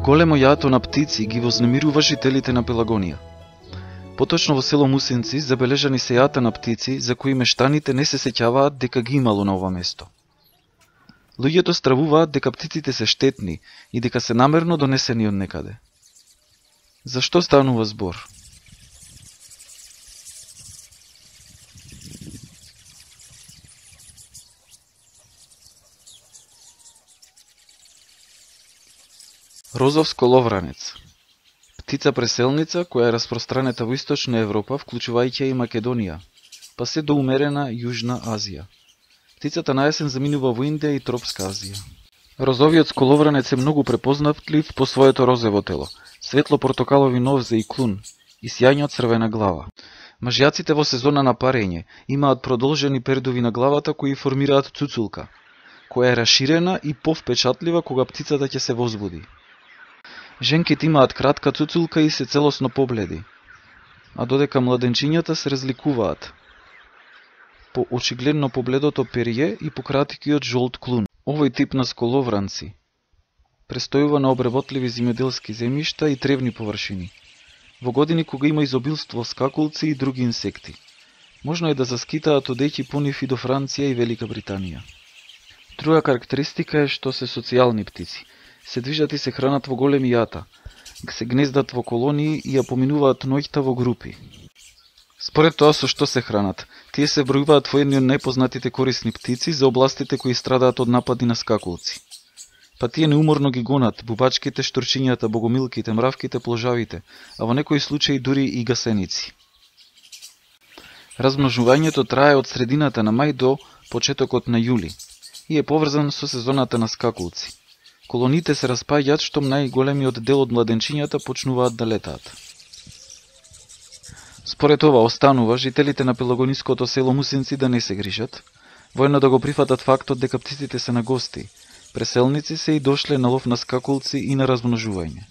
Големо јато на птици ги вознемирува жителите на Пелагонија. Поточно во село Мусинци забележани се јата на птици за кои мештаните не се сеќаваат дека ги имало на ова место. Луѓето стравуваат дека птиците се штетни и дека се намерно донесени од некаде. Зашто станува збор? Розов сколовранец. Птица преселница која е распространета во Источна Европа, вклучувајќи и Македонија, па се до умерена Јужна Азија. Птицата на јесен заминува во Индија и Тропска Азија. Розовиот сколовранец е многу препознавлив по своето розово тело, светло-портокалови нозе и клун и сјајно црвена глава. Мажјаците во сезона на парење имаат продолжени пердови на главата кои формираат цуцулка, која е расширена и повпечатлива кога птицата ќе се возбуди. Женките имаат кратка цуцулка и се целосно побледи, а додека младенчињата се разликуваат по очигледно побледото перје и по краткиот жолт клун. Овој тип на сколовранци престојува на обработливи земјоделски земјишта и тревни површини, во години кога има изобилство скакулци и други инсекти. Можно е да заскитаат одејќи по нив и до Франција и Велика Британија. Друга карактеристика е што се социјални птици. Се движат и се хранат во големи јата, се гнездат во колонии и ја поминуваат ноќта во групи. Според тоа со што се хранат, тие се бројуваат во едни од најпознатите корисни птици за областите кои страдаат од напади на скакулци. Па тие неуморно ги гонат бубачките, штурчињата, богомилките, мравките, пложавите, а во некои случаи дури и гасеници. Размножувањето трае од средината на мај до почетокот на јули и е поврзан со сезоната на скакулци. Колониите се распаѓаат штом најголемиот дел од младенчињата почнуваат да летаат. Според ова останува жителите на пелагониското село Мусинци да не се грижат, воено да го прифатат фактот дека птиците се на гости, преселници се и дошле на лов на скакулци и на размножување.